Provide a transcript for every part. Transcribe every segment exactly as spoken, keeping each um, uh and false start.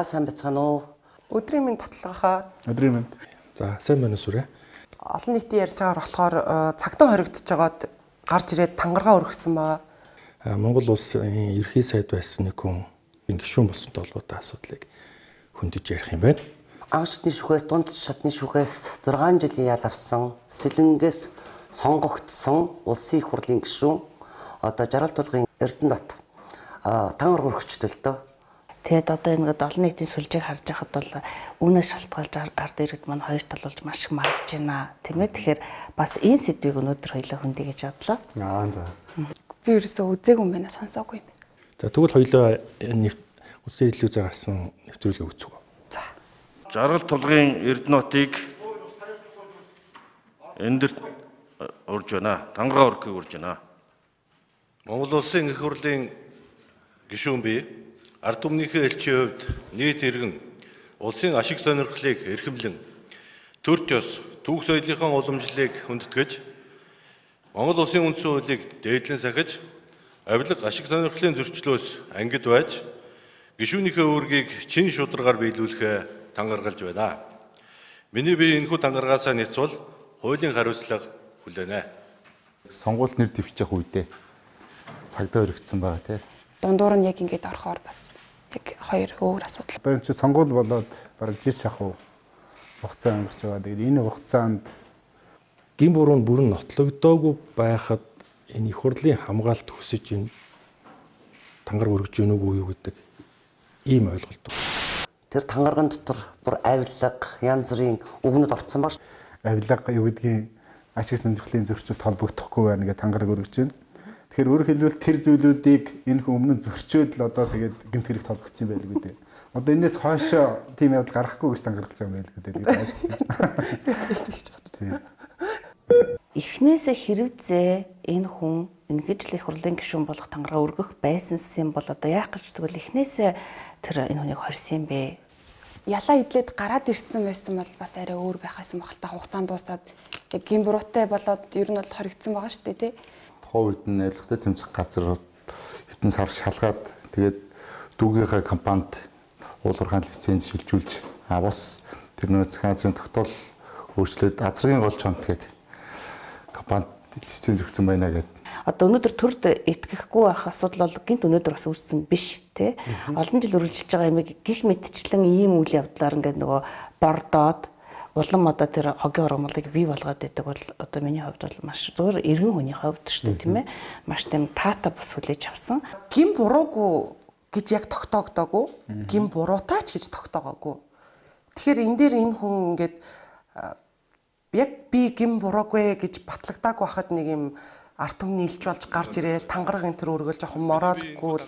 За сайн бацгаана уу. Өдрийн минь баталгаахаа. Өдрийн минь. За сайн байна сүрэ. Олон нийтийн ярьж байгаагаар болохоор цагтаа хоригдож байгаад гарч ирээд тангараа өргөсөн байгаа. Монгол улсын ерхий сайд байсан нэг хүн гишүүн болсонтой холбоотой асуудлыг хөндөж ярих юм байна. Анх шатны шүхээс дунд шатны шүхээс зургаан жилийн ял авсан, Сэлэнгээс сонгогдсон улсын их хурлын гишүүн одоо Жаргал тулгын Эрдэнэбат тангар өргөчтэй л дөө. Тэгэд одоо ингээд олон нийтийн сүлжээг харж байхад бол үүнээс шалтгаалж ард иргэд маань хоёр тал болж маш их маргаж байна. Тийм ээ. Тэгэхээр бас энэ сэдвийг өнөөдөр хоёлаа хөндөе гэж бодлоо. Аа за. Би ерөөсөө үзээгүй юм байна, сонсоогүй юм байна. За тэгвэл хоёлаа улсын хэллүүзээр гарсан нэвтрүүлгийг үздэг. За. Жаргал тулгын Эрдэнэтбатыг эндэрт урж байна. Тангараа өргөхийг урж байна. Монгол улсын их хурлын гишүүн бий ард түмнийхээ элчийн хувьд нийт иргэн улсын ашиг сонирхлыг эрхэмлэн төр төс түүх соёлынхаа уламжлалыг хүндэтгэж Монгол улсын үндсэн хуулийг дээдлэн сахиж авилга ашиг сонирхлын зөрчлөөс ангид байж гишүүнийхээ үүргийг чин шударгаар биелүүлэхээ тангаргалж байна. Миний бие энэхүү тангаргаасаа няцвал хуулийн хариуцлага хүлээнэ. Сонгуульд нэр дэвших үедээ цагдаа өргөцсөн байгаа тийм. Дундуур нь яг ингэж орохоор бас яг хоёр өөр асуудал. Одоо энэ чинь сонгуул болоод бараг жил шахуу хугацаа өнгөрч байгаа. Тэгээд энэ хугацаанд Гин буруу нь бүрэн нотлогдоогүй байхад энэ их хурлын хамгаалалт хүсэж энэ тангар өргөж гэнэ үгүй юу гэдэг ийм ойлголт. Тэр тангарган дотор бүр авилга, янз бүрийн үгнүүд орцсон баг. авилга юу гэдгийг ашиг сонирхлын зөрчилд холбогдохгүй байна гэж тангараг өргөж байна. Тэгэхээр өөрөөр хэлбэл тэр зүйлүүдийг энэ хүн өмнө зөрчөөд л одоо тэгээд гэмт хэрэг толгоцсон байл гэдэг. Одоо энэс хойшоо тийм явдал гарахгүй гэж тангаргалж байгаа юм байл гэдэг. Эхнээсээ хэрвзээ энэ хүн ингэж л их хурлын гишүүн болох тангараа өргөх байсан юм бол одоо яах гэж тэгвэл эхнээсээ тэр энэ хүнийг хорьсон юм бэ? Ялаа идлээд гараад ирсэн байсан бол бас арай өөр байхаас юм бахалтай хугацаанд дуусаад яг гин буруутай болоод ер нь бол хоригдсон байгаа шүү дээ тий. Тухайн үед нь найрлагатай тэмцэх газар хитэн сар шалгаад тэгээд дүүгийнхээ компанид уулуурхаан лиценз шилжүүлж а бас тэр нөө захаан азрын тогтоол өөрчлөөд азрын гол чонт гэдэг компанид лиценз өгсөн байна гэдэг. Одоо өнөөдөр төрд итгэхгүй байх асуудал бол гинт өнөөдөр бас үүссэн биш тий. Олон жил үргэлжилж байгаа юм гих мэдчлэн ийм үйл явдлаар ингээд нөгөө бордоод улам одоо тэр хогийн ургамлыг бий болгоод байдаг бол одоо миний хувьд бол маш зөвхөн эргэн хүний хувьд шүү дээ тийм ээ. Маш тийм таата бас хүлээж авсан. Гин буруугүй гэж яг тогтоогдоогүй, гин буруутай ч гэж тогтоогоогүй. Тэгэхээр энэ дээр энэ хүн ингээд яг би гин буруугүй гэж батлагдаагүй байхад нэг юм арт түмний илж болж гарч ирээл тангараг энэ төр өргөл жоохон моралгүй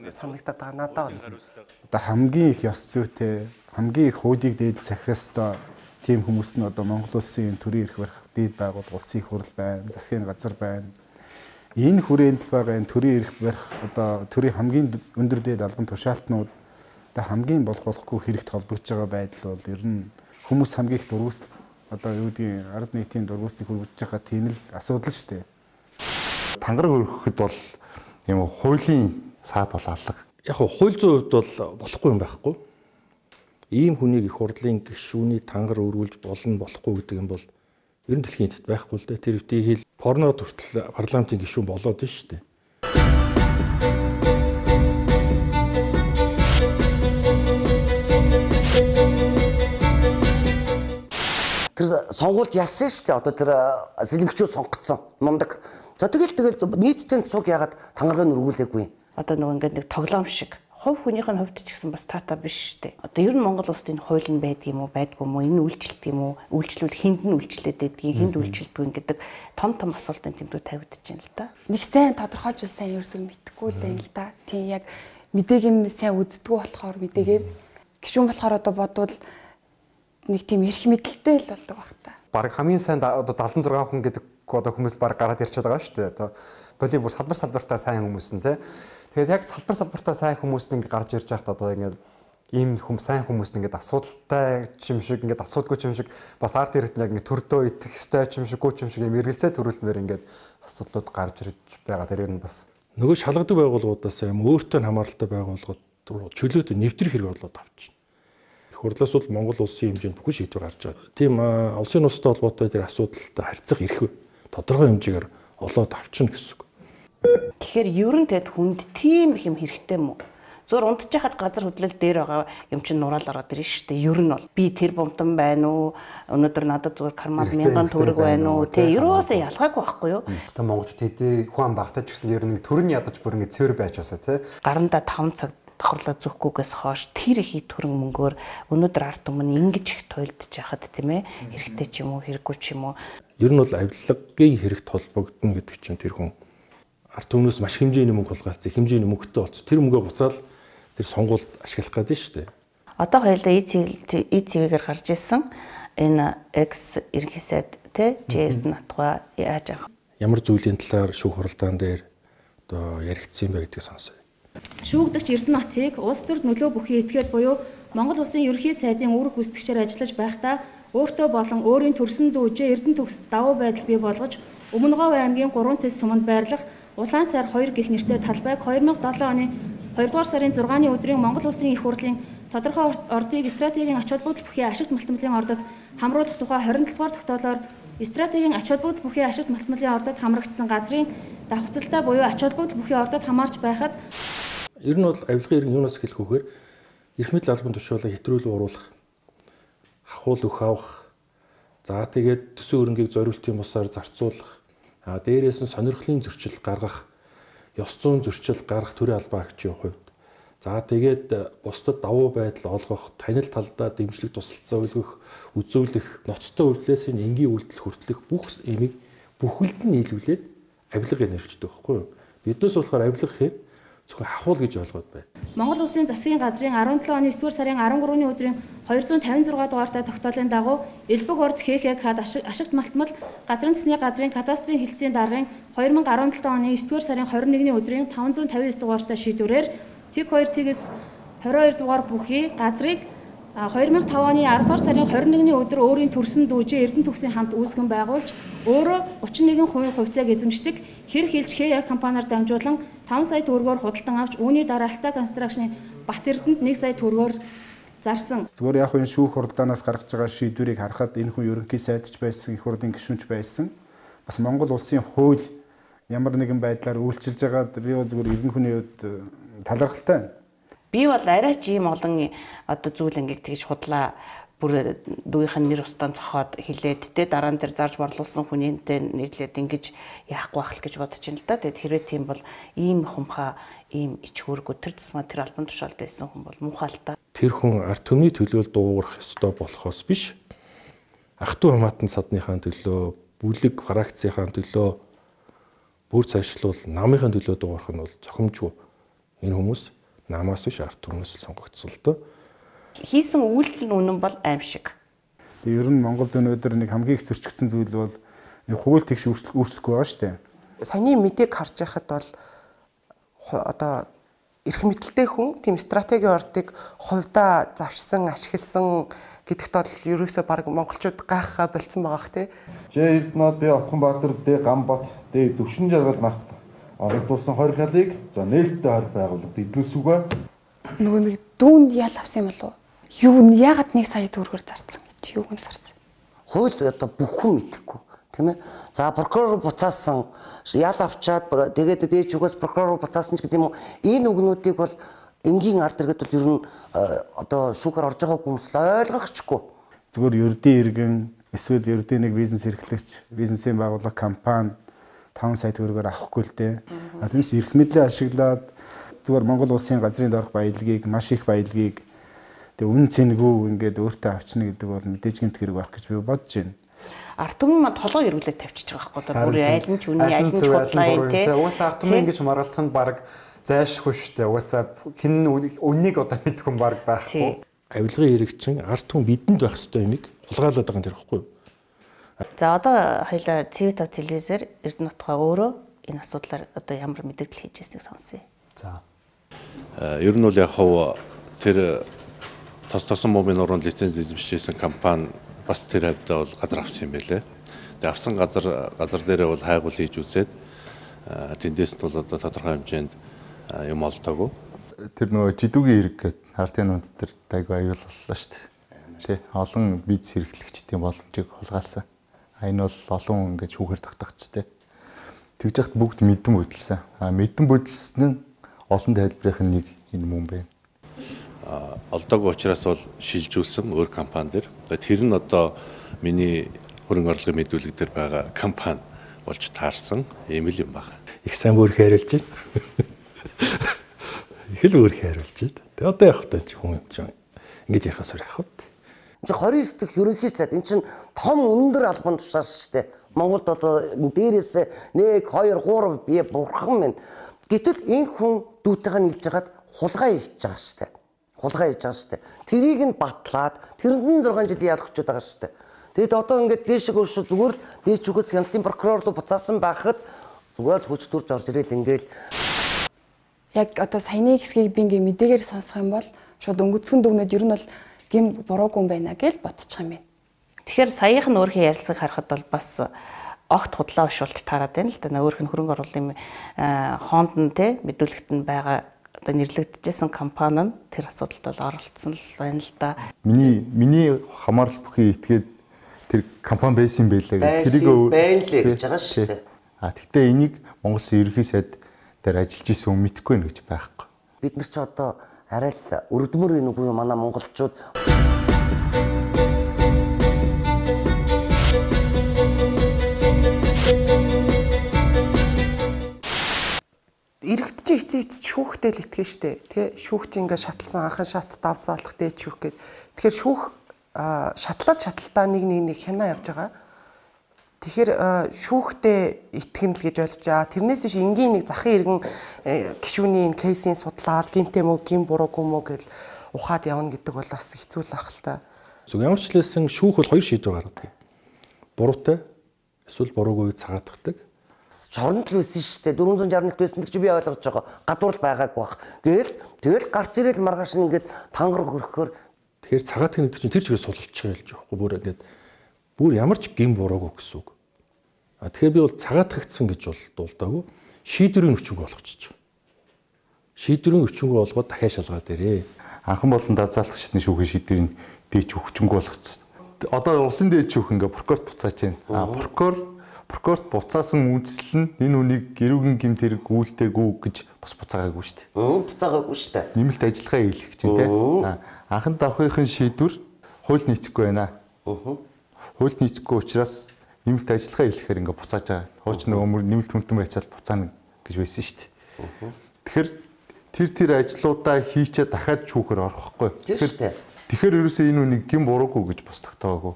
санагдаад байгаа надад бол. Одоо хамгийн их ёс зүйтэй, хамгийн их хуулийг дээд сахихаас одоо тийм хүмүүс нь одоо Монгол улсын төрийн эрх барих дээд байгууллага, улсын их хурл байна, засгийн газар байна. Энэ хүрээнд л байгаа энэ төрийн эрх барих одоо төрийн хамгийн өндөр дээд албан тушаалтнууд одоо хамгийн болох болохгүй хэрэгт холбогдож байгаа байдал бол ер нь хүмүүс хамгийн их дургуус одоо юу гэдгийг ард нийтийн дургуусныг хүргэж байгаа тийм л асуудал шүү дээ. Тангараг өргөхөд бол юм хуулийн саад бол алга. Яг хуу хууль зүйн хувьд бол болохгүй юм байхгүй. Ийм хүнийг их хурлын гишүүний тангар өргүүлж болно болохгүй гэдэг юм бол ер нь дэлхийн хэдэд байхгүй л дээ. Тэр өвтгийг хэл порнод хүртэл парламентын гишүүн болоод нь шүү дээ. Тэр сонгуульд ялсан шүү дээ. Одоо тэр сэлэнгчүүд сонгогдсон мундаг. За тэгэл тэгэл нийтдээ цуг ягаад тангараг нь өргүүлээгүй. Одоо нөгөө ингээд нэг тоглоом шиг хувь хүнийх нь хувьд ч гэсэн бас таата биш шүү дээ. Одоо ер нь Монгол улсад энэ хууль нь байдаг юм уу, байдгүй юм уу, энэ үйлчлэлт юм уу, үйлчлүүл хүнд нь үйлчлээд байдгийг, хүнд үйлчлэлтгүй гэдэг том том асуултын тэмдгүүд тавигдаж байна л да. Нэг сайн тодорхойлж сайн ерөөсөө мэдэхгүй л юм л да. Тийм яг мэдээг нь сайн үздэггүй болохоор мэдээгээр гишүүн болохоор одоо бодвол нэг тийм эрх мэдэлтэй л болдог баг та. Бараг хамгийн сайн одоо дагалдсан зургаан хүн гэдэг одоо хүмүүс бараг гараад ирчээд байгаа шүү дээ. Одоо волейбол салбар салбартаа сайн хүмүүс нь тий. Тэгээд яг салбар салбартаа сайн хүмүүс нь ингээ гарч ирж байхад одоо ингээ ийм хүм сайн хүмүүс нь ингээ асуудалтай юм шиг ингээ асуудгүй юм шиг бас арт ирээд яг ингээ төрдөө итгэх ёстой юм шиггүй юм шиг юм эргэлзээ төрүүлмээр ингээ асуудлууд гарч ирж байгаа. Тэр нь бас нөгөө шалгадаг байгууллагуудаас юм өөртөө хамааралтай байгууллагууд чөлөөтэй нэвтрэх хэрэг болоод авчихна. хурлаас бол Монгол улсын хэмжээнд бүхэн шийдвэр гарч байгаа. Тийм улсын улстай холбоотой тэр асуудалтай харьцах эрх тодорхой хэмжээгээр олоод авчна гэсэн үг. Тэгэхээр ер нь тэд хүнд тийм их юм хэрэгтэй мүү? Зур унтж яхад газар хөдлөл дээр байгаа юм чинь нураал ороод ирнэ шүү дээ. Ер нь бол би тэр бомтон байна уу? Өнөөдөр надад зүгээр кармад мянган төгрөг байна уу? Тэ ерөөсөө ялгаагүй байхгүй юу? Одоо монголчууд хэдий хүн багтаж гэсэн ер нь төрн ядаж бүр ингэ цэвэр байж басаа тий. Гаранда таван цаг давхарлаа зөхгүйгээс хойш тэр их төрөн мөнгөөр өнөөдөр ард түмэн ингэж их туйлдж яхад тийм ээ хэрэгтэй ч юм уу хэрэггүй ч юм уу. Ер нь бол авилгын хэрэгт холбогдно гэдэг чинь тэр хүн ард түмнээс маш хэмжээний мөнгө хулгайлцсан, хэмжээний мөнгөтэй болцсон. Тэр мөнгөө буцаал тэр сонгуульд ашиглах гэдэг шүү дээ. Одоо хоёулаа и цэвэгээр гарч ирсэн энэ X ерөнхий сайд тий Жэрд натгаа яаж авах? Ямар зүйлийн талаар шүүх хуралдаан дээр одоо яригдсан юм бэ гэдгийг сонсоё. Шүүгдэгч Эрдэнэтийг улс төрд нөлөө бүхий этгээд буюу Монгол улсын ерөнхий сайдын үүрэг гүйцэтгэгчээр ажиллаж байхдаа өөртөө болон өөрийн төрсөн дүүжээ Эрдэнэ төгсөд давуу байдал бий болгож Өмнөговь аймгийн гурван тэс суманд байрлах Улаан сар хоёр гэх нэртэй талбайг две тысячи седьмой оны хоёрдугаар сарын зургааны өдрийн Монгол улсын их хурлын тодорхой ордыг стратегийн ач холбогдол бүхий ашигт малтмалын ордод хамруулах тухай двадцать дугаар тогтоолоор стратегийн ач холбогдол бүхий ашигт малтмалын ордод хамрагдсан газрын давхцалтай буюу ач холбогдол бүхий ордод хамаарч байхад ер нь бол авилгын иргэн юунаас хэлэх вэхээр эрх мэдэл албан тушаалаа хэтрүүлэн оруулах, хахуул өх авах, за тэгээд төсөө хөрөнгийг зориултын бусаар зарцуулах, а дээрээс нь сонирхлын зөрчил гаргах, ёс зүйн зөрчил гаргах төрийн албан агчийн хувьд. За тэгээд бусдад давуу байдал олгох, танил талдаа дэмжлэг тусалцаа үлгэх, үзүүлэх, ноцтой үйлдэлээс энэ энгийн үйлдэл хүртэлх бүх эмийг бүхэлд нь нийлүүлээд авилга гэж нэрчдэг байхгүй юу? Биднээс болохоор авилга гэхээр зөвхөн хахуул гэж ойлгоод байна. Монгол улсын засгийн газрын17 оны нэгдүгээр сарын арван гурваны өдрийн двести пятьдесят шесть дугаартай тогтоолын дагуу Элбэг орд ХХК-д ашигт малтмал газрын төсний газрын кадастрын хэлтсийн даргын две тысячи десять оны есдүгээр сарын двадцать нэгний өдрийн пятьсот пятьдесят девять дугаартай шийдвэрээр Тэг хоёр тэгээс двадцать two дугаар бүхий газрыг две тысячи five оны аравдугаар сарын двадцать нэгний өдөр өөрийн төрсөн дүүжээ Эрдэнэ төгсийн хамт үүсгэн байгуулж өөрөө тридцать one percent хувьцааг эзэмшдэг хэр хэлж ХХК компаниар дамжуулан five сая төгрөгөөр худалдан авч үүний дараа Алтай констракшны Бат Эрдэнэт one сая төгрөгөөр зарсан. Зүгээр яг энэ шүүх хуралдаанаас гаргаж байгаа шийдвэрийг харахад энэ хүн ерөнхий сайдч байсан, их хурлын гишүүнч байсан. Бас Монгол улсын хууль ямар нэгэн байдлаар үйлчилж байгаад би зүгээр эрдэнэ хүний хувьд талархалтай. Би бол арай ч ийм олон одоо зүйл ингээд тэгж худлаа бүр дүүийнхэн нэр устан цохоод хилээд тэ дараа нь тэр зарж борлуулсан хүнийнтэй нийлээд ингэж яахгүй байх л гэж бодож байна л да. Тэгээд хэрвээ тийм бол ийм хумхаа ийм ичхүүргүү тэр тусмаа тэр албан тушаалд байсан хүн бол муухай. Тэр хүн ард түмний төлөөл дуугарах ёстой болохоос биш. Ах トゥ хамаатан садныхаа төлөө, бүлэг фракцийнхаа төлөө бүр цаашлуул намынхаа төлөө дуугарах нь бол зохимжгүй. Энэ хүмүүс намаас биш ард түмнээс сонгогдсон л доо. Хийсэн үйлдэл нь үнэн бол аимшиг. Тэгээ ер нь Монголд өнөөдөр нэг хамгийн их зөрчигдсөн зүйл бол нэг хууль тэгш өөрчлөхгүй байгаа шүү дээ. Саяны мэдээг харж байхад бол одоо эрх мэдэлтэй хүн тийм стратегийн ордыг хувьдаа завшсан, ашигласан гэдэгт бол ерөөсөө баг монголчууд гайхаа болцсон байгаах тий. Жэ Эрдэнэт Б Отгонбаатар Д Гамбат Д Төвшин жаргал нарт оролдуулсан хорих ялыг за нээлттэй хорих байгууллагад эдгүүлсүгэ. Нөгөө нэг дүүнд ял авсан юм болов уу? Юу нь ягаад нэг сая төгрөгөөр зарсан гэж юу гэн зарсан. Хууль одоо бүх хүн мэдэхгүй тийм ээ. За прокурор буцаасан ял авчаад тэгээд дээж югаас прокурор буцаасан ч гэдэг юм уу. Энэ үгнүүдийг бол энгийн ард иргэд бол ер нь одоо шүүхээр орж байгаа хүмүүс ойлгохчгүй. Зүгээр ердийн иргэн эсвэл ердийн нэг бизнес эрхлэгч, бизнесийн байгууллага компани five сая төгрөгөөр авахгүй л дээ. А тиймээс эрх мэдлээ ашиглаад зүгээр Монгол улсын газрын доорх баялагийг, маш их баялагийг тэг үн цэнгүй ингээд өөртөө авчна гэдэг бол мэдээж гэмт хэрэг байх гэж би бодож байна. Ард түмэн манд толгой ирүүлээд тавьчихж байгаа байхгүй юу? Бүр аль нь ч үний аль нь ч худлаа юм тий. Уусаа ард түмэн ингэж маргалахын баг зайлшгүй шүү дээ. Уусаа хин үннийг одоо мэдэх хүн баг байхгүй. Авилгын хэрэг чинь ард түмэн бидэнд байх ёстой юмыг хулгайлаад байгаа юм тэр ихгүй юу? За одоо хоёлаа цэвэт тав телевизээр Эрдэнэ утгаа өөрөө энэ асуудлаар одоо ямар мэдээлэл хийж ирснийг сонсъё. За. Ер нь бол яг хав тэр тос тосон мобийн уран лиценз эзэмшижсэн компани бас тэр хавьдаа бол газар авсан юм байлээ. Тэгээ авсан газар газар дээрээ бол хайгуул хийж үзээд тэндээс нь бол одоо тодорхой хэмжээнд юм олдоогүй. Тэр нөгөө жидүүгийн хэрэг гэдэг хартын нүнд тэр дайг аюул боллоо шүү дээ. тий олон бизнес эрхлэгчдийн боломжийг хулгайлсан. А энэ бол олон ингээд шүүхээр тогтогдсон тий. Тэгж яхад бүгд мэдэн бодилсан. А мэдэн бодилсан нь олон тайлбарын нэг энэ мөн байна. А олдоогүй учраас бол шилжүүлсэн өөр компани дээр. Тэр нь одоо миний хөрөнгө оруулалтын мэдүүлэг дээр байгаа компани болж таарсан ийм л юм байна. Их сайн бүр хайрлж байна. Их л өөр хайрлж байна. Тэгээ одоо явах та чи хүн юм чинь ингэж ярихаас өөр явах. Энд чинь двадцать дэх ерөнхий сайд энэ чинь том өндөр албан тушаал шүү дээ. Монголд одоо дээрээс нэг хоёр гурав бие бурхан минь. Гэтэл энэ хүн дүүтэйгээ нийлж хагаад хулгай хийж байгаа шүү дээ. Хулгай хийж байгаа шүү дээ. Тэрийг нь батлаад тэрэнд зургаан жилийн ялгчод байгаа шүү дээ. Тэгэд одоо ингээд дээшээ гүйш зүгээр л дээш үгээс хяналтын прокурор руу буцаасан байхад зүгээр л хүч төрж орж ирэл ингээл яг одоо саяны хэсгийг би ингээ мэдээгээр сонсох юм бол шууд өнгөцгөн дүгнээд ер нь бол гим буруугүй юм байна гэж бодчих юм байна. Тэгэхээр саяхан өөрхийн ярилцаг харахад бол бас огт худлаа ушуулж таарад байна л да. Өөрх нь хөрөнгө оруулалтын хонд нь те мэдүүлэгт нь байгаа одоо нэрлэгдэжсэн компани нь тэр асуудалд бол оролцсон л байна л да. Миний миний хамаарал бүхий итгээд тэр компани байсан байлаа гэх тэрийг байна л гэж байгаа шүү дээ. А тэгтээ энийг Монгол Улсын ерөнхий сайд дээр ажиллаж исэн хүн мэдэхгүй нэ гэж байхгүй. Бид нар ч одоо арай л өргөдмөр энэ үгүй манай монголчууд эрэгдэж эцээ эц шүүхтэй л итгэн штэ тий шүүх чи ингээ шатлсан анхан шат дав заалдах дээд шүүх гээд тэгэхээр шүүх шатлал шаталтаа нэг нэг нэг хянаа явж байгаа. Тэгэхээр шүүхтэй итгэн л гэж ойлгож байгаа. Тэрнээс биш энгийн нэг захын иргэн гишүүний энэ кейсийн судлаад гимтэй мө гим буруугүй мө гэж ухаад явна гэдэг бол бас хэцүү л ах л та. Зөв ямар ч хэлсэн шүүх бол хоёр шийдвэр гаргадаг. Буруутай эсвэл буруугүй цагаатгадаг. Шоронд л байсан шүү дээ. дөрвөн зуун шарналт байсан гэж би ойлгож байгаа. Гадуур байгаагүй бах. Гээл тэгэл гарч ирэл маргааш нь ингээд тангар хөрөхөөр тэгэхээр цагаатгах гэдэг чинь тэр чигээр сулж байгаа ялж байхгүй бүр ингээд бүр ямар ч гин буруугүй гэсэн үг. А тэгэхээр би бол цагаатгагдсан гэж бол дуулдаагүй. Шийдвэрийн өчнөг болгочих. Шийдвэрийн өчнөг болгоод дахиад шалгаад ирээ. Анхан болон давзаалах шатны шүүхийн шийдвэрийн дээч өчнөг болгоцсон. Одоо улсын дээд шүүх ингээ прокурорт буцааж байна. А прокурор прокурорт буцаасан үйлдэл нь энэ үнийг гэрүүгийн гэмт хэрэг үйлдээгүй гэж бас буцаагаагүй шүү дээ. Мм буцаагаагүй шүү дээ. Нэмэлт ажиллагаа хийх гэж байна те. Анхан давхрын шийдвэр хууль нийцэхгүй байна. Аа. Хууль нийцэхгүй учраас нэмэлт ажиллагаа хийхээр ингээ буцааж байгаа. Хууч нөгөө мөр нэмэлт хүнтэн байцаал буцаана гэж байсан шүү дээ. Тэгэхээр тэр тэр ажлуудаа хийчээ дахиад шүүхээр орохгүй. Тэгэхээр тэгэхээр ерөөсөө энэ үнийг гин буруугүй гэж бас тогтоогоогүй.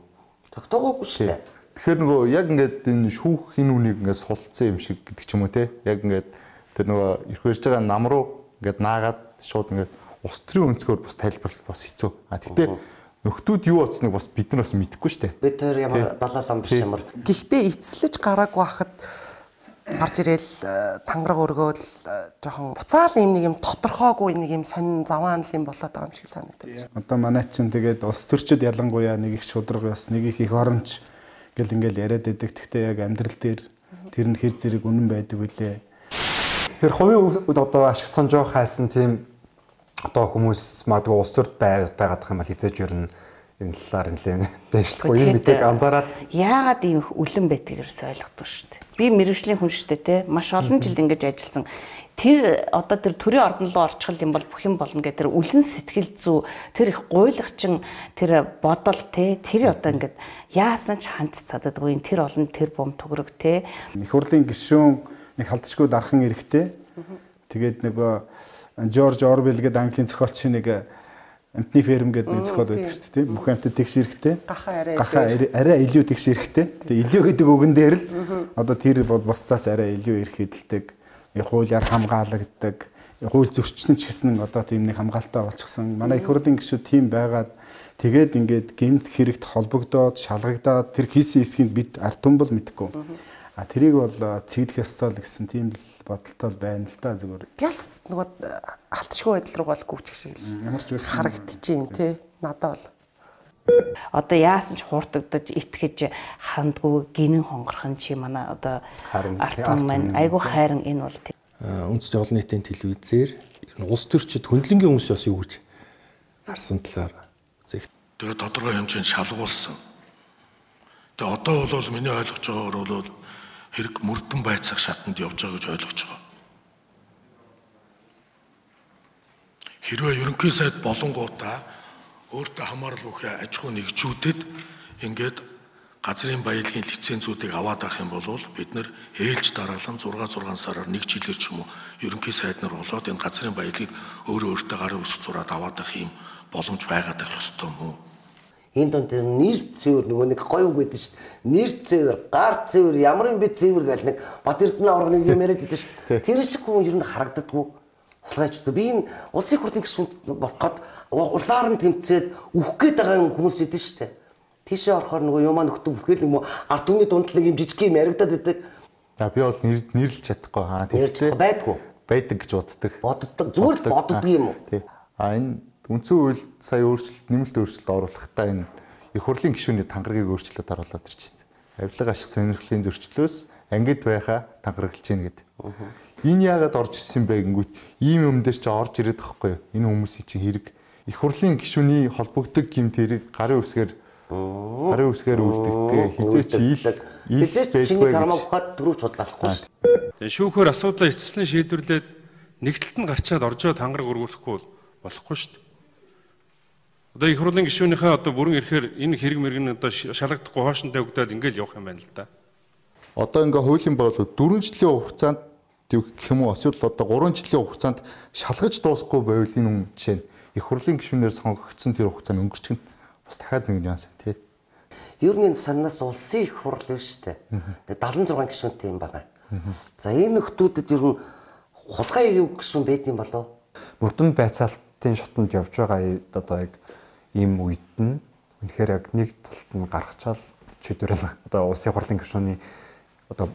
Тогтоогоогүй шүү дээ. Тэгэхээр нөгөө яг ингээд энэ шүүх энэ үнийг ингээд сулцсан юм шиг гэдэг ч юм уу те. Яг ингээд тэр нөгөө ирэх барьж байгаа нам руу ингээд наагаад шууд ингээд улс төрийн өнцгөр бас тайлбарлах бас хэцүү. А тэгтээ нөхдүүд юу бодсныг бас бид нар бас мэдэхгүй шүү дээ. Бид тэр ямар далаалан биш ямар. Гэхдээ эцэлж гараагүй хахад гарч ирээл тангараг өргөөл жоохон буцаал юм нэг юм тодорхойгүй нэг юм сонин заваан л юм болоод байгаа юм шиг санагдаж. Одоо манай чинь тэгээд улс төрчид ялангуяа нэг их шудраг бас нэг их их оронч гэл ингээл яриад байдаг. Гэхдээ яг амьдрал дээр тэр нь хэр зэрэг үнэн байдаг үлээ. Тэр хувийн одоо ашиг сонжоо хайсан тийм одоо хүмүүс магадгүй улс төрд байгаад юм бол хизээж ер нь энэ талаар нэлээд дэвшлэхгүй юм бидэг анзаараад яагаад ийм их үлэн байдгийг ерөөс ойлгохгүй шүү дээ. Би мэрэгжлийн хүн шүү дээ те маш олон жил ингэж ажилласан. Тэр одоо тэр төрийн ордон руу орчихвол юм бол бүх юм болно гэх тэр үлэн сэтгэл зүй тэр их гуйлагчин тэр бодол те тэр одоо ингээд яасан ч ханц цададгүй тэр олон тэр бом төгрөг те их хурлын гишүүн нэг халдшгүй дархан эрэхтэй. Тэгээд нөгөө Жорж Орвел гэдэг Английн зохиолчийн нэг амтны ферм гэдэг нэг зохиол байдаг шүү дээ тийм бүх амтд тэгш эрэхтэй. Гахаа арай илүү тэгш эрэхтэй. Тэгээ илүү гэдэг үгэн дээр л одоо тэр бол бусдаас арай илүү эрх эдэлдэг. Хуулиар хамгаалагддаг. Хууль зөрчсөн ч гэсэн одоо тийм нэг хамгаалалтаа болчихсон. Манай их хурлын гишүүд тийм байгаад тэгээд ингээд гэмт хэрэгт холбогдоод шалгагдаад тэр хийсэн хэсгийг бид ард түмбэл мэдэхгүй. А тэрийг бол цэглэх ёстой л гэсэн тийм л бодолтой байна л та зүгээр. Ялс нөгөө алтшгүй байдал руу бол гүвчих шиг л ямар ч байсан харагдчихээн тий надад бол одоо яасан ч хууртагдаж итгэж хандгүй гинэн хонгорхон чи манай одоо ард түмэн маань айгу хайран энэ бол үндэсний олон нийтийн телевизээр улс төрчид хөндлөнгийн хүмүүс бас юу гэж харсан талаар Тэгээ тодорхой хэмжээнд шалгуулсан. Тэгээ одоо бол миний ойлгож байгаагаар бол хэрэг мөрдөн байцаах шатанд явж байгаа гэж ойлгож байгаа. Хэрвээ ерөнхий сайд болонгуудаа өөртөө хамаарал бүхий аж ахуй нэгжүүдэд ингээд газрын баялагын лицензүүдийг аваад авах юм бол бид нэр ээлж дараалан зураг зургаан сараар нэг жилээр ч юм уу ерөнхий сайд нар болоод энэ газрын баялагыг өөрөө өөртөө гарын үсэг зураад аваад авах юм боломж байгаад байх ёстой юм уу? Энэ донд нэр цэвэр нөгөө нэг гоё үг гэдэг шүү дээ. Нэр цэвэр, гар цэвэр, ямар юм бэ цэвэр гэл нэг Бат Эрдэнэ аврагын юм яриад байдаг шүү дээ. Тэр шиг хүн ер нь харагддаггүй. Хулгайчдаа би энэ улсын хурлын гишүүн болоход улаар нь тэмцээд үхэх гээд байгаа хүмүүс идэв шүү дээ. Тийшээ орохоор нөгөө юмаа нөхдөв бүхэл юм уу ард түмний дундлаг юм жижиг юм яригадаад байдаг. За би бол нэрлэж чадахгүй. Аа тийм байдгүй. Байдаг гэж боддог. Боддог. Зүгээр л боддог юм уу? Тий. А энэ үндсэн хууль сая өөрчлөлт, нэмэлт өөрчлөлт оруулахдаа энэ их хурлын гишүүний тангаргийг өөрчлөлт оруулаад ирчихсэн. Авилга ашиг сонирхлын зөрчлөөс ангид байхаа тангаргалж гин гэдэг. Энэ яагаад орж ирсэн бэ гингүүт ийм юм дээр ч орж ирээд байхгүй юу? Энэ хүмүүсийн чинь хэрэг их хурлын гишүүний холбогддог гэмт хэрэг гарын үсгээр гарын үсгээр үлддэгтэй хизээч ил ил чиний кармаг ухаад төрүүч бол болохгүй шүү дээ. Тэгээ шүүхээр асуудлаа эцэслэн шийдвэрлээд нэгдэлт нь гарчаад оржоо тангараг өргүүлэхгүй болохгүй шүү дээ. Одоо их хурлын гишүүнийхээ одоо бүрэн ирэхээр энэ хэрэг мэрэг нь одоо шалгагдахгүй хоошинтой өгдөөд ингээл явах юм байна л да. Одоо ингээ хуулийн боолоо дөрвөн жилийн хугацаанд гэх юм уу эсвэл одоо гурван жилийн хугацаанд шалгаж дуусахгүй байвал энэ хүн жишээ нь их хурлын гишүүнээр сонгогдсон тэр хугацаа нь өнгөрчих нь бас дахиад нэг нюанс тий. Ер нь энэ санаас улсын их хурл биш шүү дээ. дагалан зургаан гишүүнтэй юм байна. За энэ нөхдүүдэд ер нь хулгай гишүүн байд юм болов? Мөрдөн байцаалтын шатанд явж байгаа одоо яг ийм үед нь үнэхээр яг нэг талд нь гаргачаал чөтөр нь одоо улсын хурлын гишүүний одоо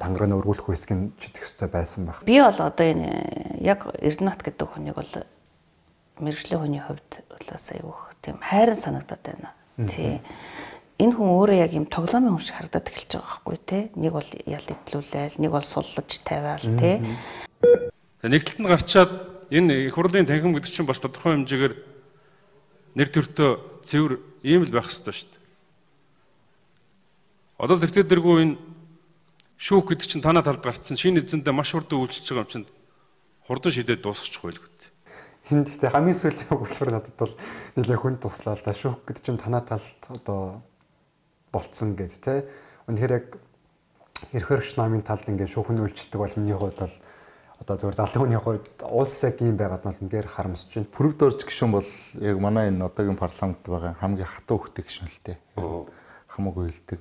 тангараг нь өргүүлэх үсгэн чидэх ёстой байсан баг. Би бол одоо энэ яг Эрдэнэт гэдэг хүнийг бол мэргэжлийн хүний хувьд улаас аюух тийм хайран санагдаад байна. Тий. Энэ хүн өөрөө яг юм тоглоомын хүн шиг харагдаад эхэлж байгаа байхгүй тий. Нэг бол ял идлүүлээл, нэг бол суллаж тавиал тий. Нэгдэлтэнд гарчаад энэ их хурлын танхим гэдэг чинь бас тодорхой хэмжээгээр нэр төртөө цэвэр ийм л байх ёстой шүү дээ. Одоо тэр тэргүй энэ шүүх гэдэг чинь танаа талд гарцсан шинэ эзэндээ маш хурдан үйлчилж байгаа юм чинь хурдан шийдээд дуусчихгүй л гэдэг. Энд гэхдээ хамгийн сүүлийн өгүүлбэр надад бол нэлээд хүн туслаа л да. Шүүх гэдэг чинь танаа талд одоо болцсон гэдэг те. Үнэхээр яг эрх хөрш намын талд ингээд шүүхэн үйлчилдэг бол миний хувьд бол одоо зөвхөн залуу хүний хувьд улс яг юм байгаад нь үнээр харамсаж байна. Бүрэг дорж гишүүн бол яг манай энэ одоогийн парламент байгаа хамгийн хатуу хөхтэй гишүүн л дээ. Хамаагүй хэлдэг.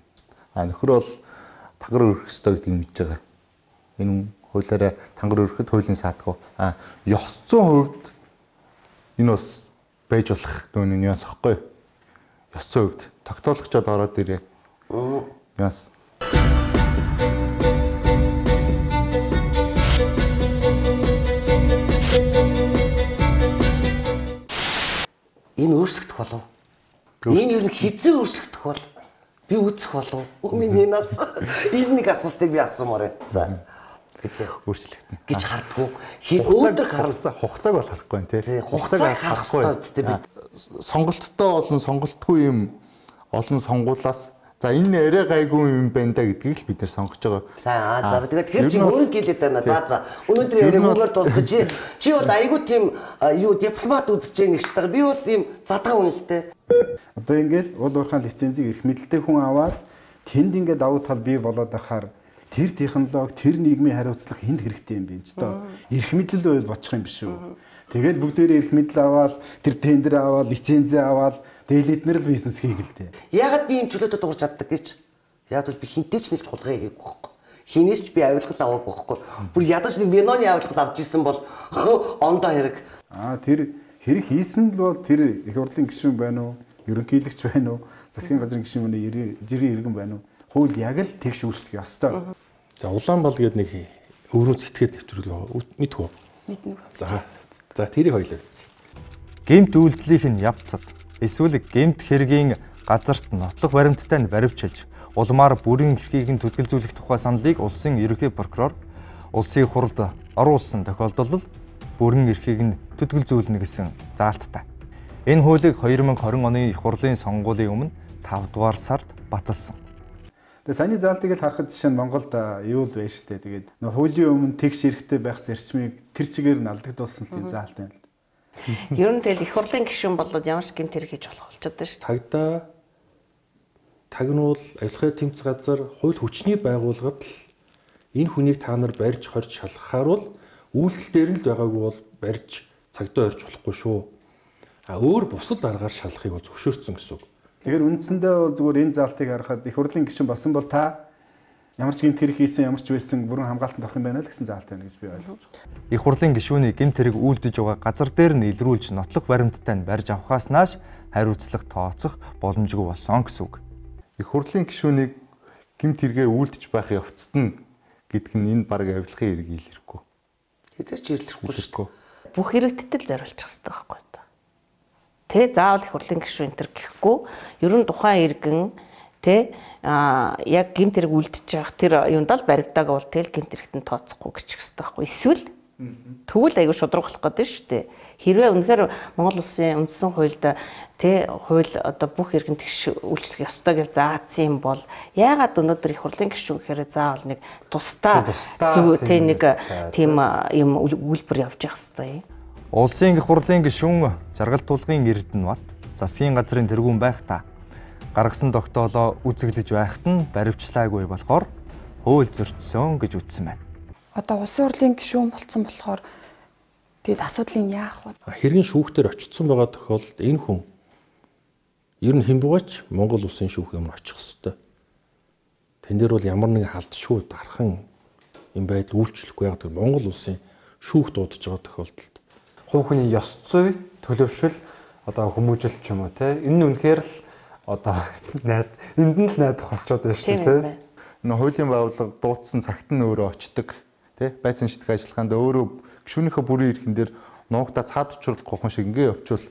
А нөхөр бол тангар өрөх ёстой гэдгийг мэдж байгаа. Энэ хуулиараа тангар өрөхөд хуулийн саатгүй. А ёс зүйн хувьд энэ бас байж болох дөөний нюанс واخгүй. Ёс зүйн хувьд тогтоологчод ороод ирээ. Нюанс. Энэ өөрчлөгдөх болов. Энэ ер нь хизээ өөрчлөгдөх бол би үзэх болов. Миний нас энэ нэг асуултыг би асуумаар байна. За. Хизээ өөрчлөгдөн гэж хардггүй. Өөдөр харцаа хугацааг бол харахгүй нэ тий. Хугацааг харах хэрэгтэй үстэй бид. Сонголттой болон сонголтгүй юм олон сонгуулаас за энэ арай гайгүй юм байна да гэдгийг л бид нэр сонгож байгаа. За за тэгээд тэр чинь өөрөө гэлээд байна. За за өнөөдөр яригуугаар дуусгаж чи чи бол айгүй тийм юу дипломат үзэж байгаа нэг ч таа. Би бол ийм задгаа үнэлтэй. Одоо ингээл уул уурхаан лицензийг эрх мэдэлтэй хүн аваад тэнд ингээд давуу тал бий болоод байхаар тэр технологи, тэр нийгмийн хариуцлага хэнд хэрэгтэй юм бэ ч доо. Эрх мэдэл байл бочих юм биш үү. Тэгэл бүгдээрээ эрх мэдэл аваад, тэр тендер аваад, лицензээ аваад, тэгээд эднэр л бизнес хийгэлтэй. Ягаад би юм чөлөөтэй дуурч чаддаг гэж? Яг бол би хинтэй ч нэг хулгай хийгээгүй байхгүй. Хинээс ч би авилгал аваагүй байхгүй. Бүр ядаж нэг виноны авилгал авч исэн бол ондоо хэрэг. Аа тэр хэрэг хийсэн л бол тэр их хурлын гишүүн байна уу? Ерөнхийлөгч байна уу? Засгийн газрын гишүүн байна уу? Жирийн иргэн байна уу? Хууль яг л тэгш үүсгэх ёстой. За Улаанбал гээд нэг өөрөө зэтгээд нэвтрүүлээ мэдхүү. Мэднэ. За за тэрийг хоёлоо үзье. Гэмт үйлдлийн явцад эсвэл гэмт хэргийн газарт нотлох баримттай нь баривчилж улмаар бүрэн эрхийг нь төдөлзүүлэх тухай саналыг улсын ерөнхий прокурор улсын хурлд оруулсан тохиолдолд бүрэн эрхийг нь төдөлзүүлнэ гэсэн заалттай. Энэ хуулийг хоёр мянга хорин оны их хурлын сонгуулийн өмнө тав дугаар сард баталсан. Тэгээ саяны заалтыг л харахад жишээ нь Монголд юу л байж штэ. Тэгээд нөх хуулийн өмнө тэгш эрэхтэй байх зарчмыг тэр чигээр нь алдагдуулсан тийм заалт байна л. Ер нь тэгэл их хурлын гишүүн болоод ямар ч гэмт хэрэг хийж болох болчиход байна шүү дээ. Тагдаа тагнуул авилгын тэмц газар хууль хүчний байгууллагад л энэ хүнийг та нар барьж хорж шалгахаар бол үйлдэл дээр нь л байгаагүй бол барьж цагдаа орж болохгүй шүү. А өөр бусад аргаар шалгахыг бол зөвшөөрсөн гэсэн үг. Тэгэхээр үндсэндээ бол зүгээр энэ заалтыг харахад их хурлын гишүүн болсон бол та ямар ч гэмт хэрэг хийсэн ямар ч байсан бүрэн хамгаалтанд орох юм байна л гэсэн заалт байна гэж би ойлгож байна. Их хурлын гишүүний гэмт хэрэг үйлдэж байгаа газар дээр нь илрүүлж нотлох баримттай нь барьж авахаас нааш хариуцлага тооцох боломжгүй болсон гэсэн үг. Их хурлын гишүүнийг гэмт хэрэгээ үйлдэж байх явцад нь гэдг нь энэ баг авилгын хэрэг илэрхгүй. Хэзээ ч илэрхгүй шүү. Бүх хэрэгтдэл зориулчих хэрэгтэй байхгүй та. Тэ заавал их хурлын гишүүн энэ төр гэхгүй ер нь тухайн иргэн тэ а яг гэмт хэрэг үлдчих явах тэр юундаа л баригдааг бол тэл гэмт хэрэгт нь тооцохгүй гэчих хэрэгтэй байхгүй. Эсвэл тэгвэл аягүй шудраг болох гэдэг шүү дээ. Хэрвээ үнэхээр Монгол улсын үндсэн хуульд тэ хууль одоо бүх иргэн тэгш үйлчлэх ёстой гэж заасан юм бол яагаад өнөөдөр их хурлын гишүүн гэхээр заавал нэг тусдаа зүг тэ нэг тийм юм үйлбэр явж явах хэрэгтэй. Улсын их хурлын гишүүн жаргал тулгын Эрдэнэбат засгийн газрын тэргүүн байх та гаргасан тогтоолоо үзэглэж байхад нь баривчлаагүй болохоор хууль зөрчсөн гэж үздсэн байна. Одоо улсын хурлын гишүүн болцсон болохоор тэгэд асуудлыг яах вэ? Хэргийн шүүхтэр очсон байгаа тохиолдолд энэ хүн ер нь хэн буугач Монгол улсын шүүх юм очих хэвээр. Тэн дээр бол ямар нэгэн халдшгүй дархан юм байдал үйлчлэхгүй яг тэр Монгол улсын шүүх дуудаж байгаа тохиолдолд хувь хүний ёс зүй, төлөвшил, одоо хүмүүжил ч юм уу те. Энэ нь үнэхээр л одоо найд энд нь л найдах болчиход байна шүү дээ те. Энэ хуулийн байгууллага дуудсан цагт нь өөрөө очдог те. Байцаан шидэг ажиллагаанд өөрөө гишүүнийхээ бүрийн эрхэн дээр нуугдаа цаад учруулахгүй хүн шиг ингээ явуучвал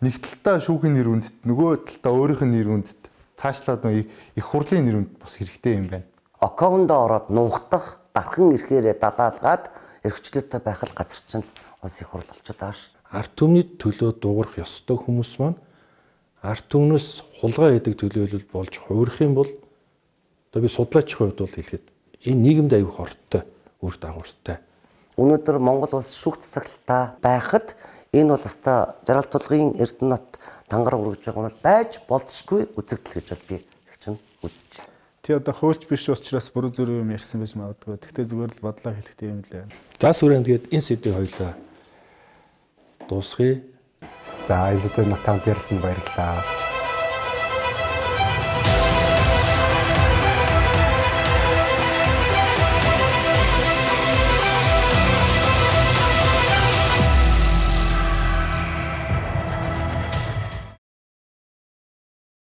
нэг талдаа шүүхийн нэр үндэт нөгөө талдаа өөрийнх нь нэр үндэт цаашлаад их хурлын нэр үндэт бас хэрэгтэй юм байна. Аккаунтд ороод нуугдах дархан эрхээрээ далаалгаад эрхчлөөтэй байх л газар чинь улс их хурл болчиход байгаа ш. Ард түмний төлөө дуурах ёстой хүмүүс маань ард түмнөөс хулгай хийдэг төлөөлөл болж хуурах юм бол одоо би судлаачийн хувьд бол хэлэхэд энэ нийгэмд аюу хортой үр дагавартай. Өнөөдөр Монгол улс шүүх засаглалтаа байхад энэ бол өстой жаргал тулгын Эрдэнэбат тангар өргөж байгаа нь байж болзошгүй үзэгдэл гэж бол би чинь үзэж байна. Тий одоо хуульч биш учраас буруу зүрх юм ярьсан байж магадгүй. Тэгтээ зүгээр л бодлоо хэлэхдээ юм л байна. За сүрэн тэгээд энэ сэдвийг хоёлаа дуусгая. За энэ сэдвийг натамд ярьсанд баярлалаа.